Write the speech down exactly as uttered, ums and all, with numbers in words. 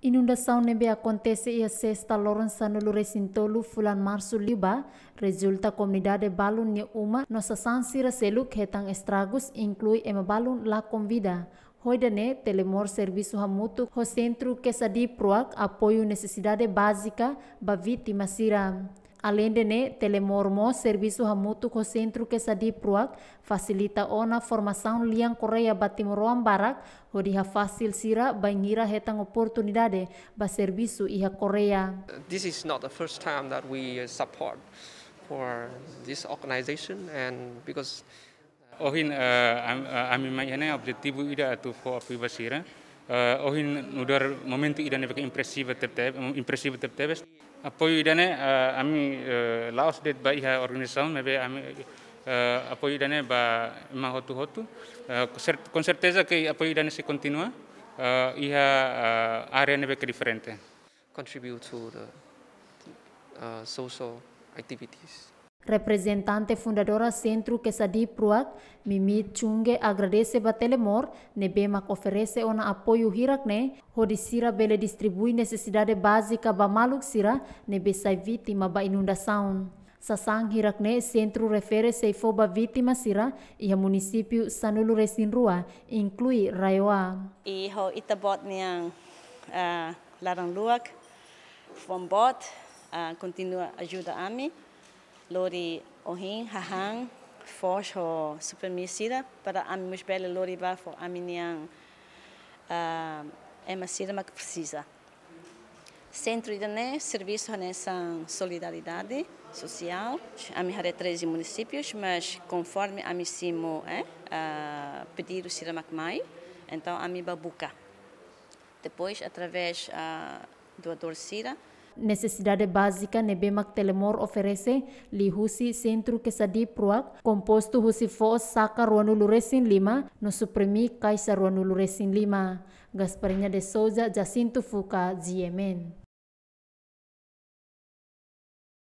Inundasaun ne'ebé akontese iha sesta loron sanulu resin tolu fulan marsu liubá, rezulta komunidade balun nia uma no sasán sira seluk hetan estragus, inklui ema balun lakon vida. Ho ida-ne'e, Telemor servisu hamutuk ho Sentru Quesadhip Ruak apoiu nesesidade bázika ba vítima sira. Aleinde ne'e, Telemor mós servisu hamutuk ho Sentru Quesadhip Ruak fasilita ona formasaun lian Koreia ba timoroan barak, hodi hafasil sira bainhira hetan oportunidade ba servisu iha Koreia. This is not the first time that we uh, support for this organization, and because Ohin, eh, am- eh, ami mai iha ne'e objetivu ida atu fó apoiu ba sira. Eh, ohin nu'udar momentu ida ne'ebé ke impresiva tebetebes, impresiva tebetebes. Apoiu ida-ne'e, eh, ami, eh, la'ós de'it ba iha organizasaun, maibé ami, eh, apoiu ida-ne'e ba ema hotu-hotu. Eh, cer- com certeza que apoiu ida-ne'e sei kontinua, eh, iha, eh, área ne'ebé ke diferente. contribute to the uh, social activities. Reprezentante fundadora Sentru Quesadhip Ruak, Mimi Chunge, agradese ba Telemor ne'ebé mak oferese ona apoiu hirak-ne'e, hodi sira bele distribui nesesidade bázika ba maluk sira ne'ebé sai vítima ba inundasaun. Sasán hirak-ne'e sentru refere sei fó ba vítima sira iha munisípiu sanulu resin rua, inklui RAEOA. I ho ita-boot nian, ah, laran luak, foin boot, ah, kontinua ajuda ami, lori ohin, hahán, foos ho suprimi sira, para ami mós bele lori ba fó ami-nian, ah, ema sira mak presiza. Sentru ida-ne'e servisu hanesan solidariedade sosiál. Ami haree treze munisípius, mas konforme ami simu, eh, ah, pedidu sira mak mai, entaun ami bá buka. Depois, através, ah, doadór sira. Nesesidade bázika ne'ebé mak Telemor oferese liuhusi Sentru Quesadhip Ruak, kompostu husi foos saka ruanulu resin lima no suprimi kaixa ruanulu resin lima. Gasparinha de Souza, Jacinto Fuca, G M N.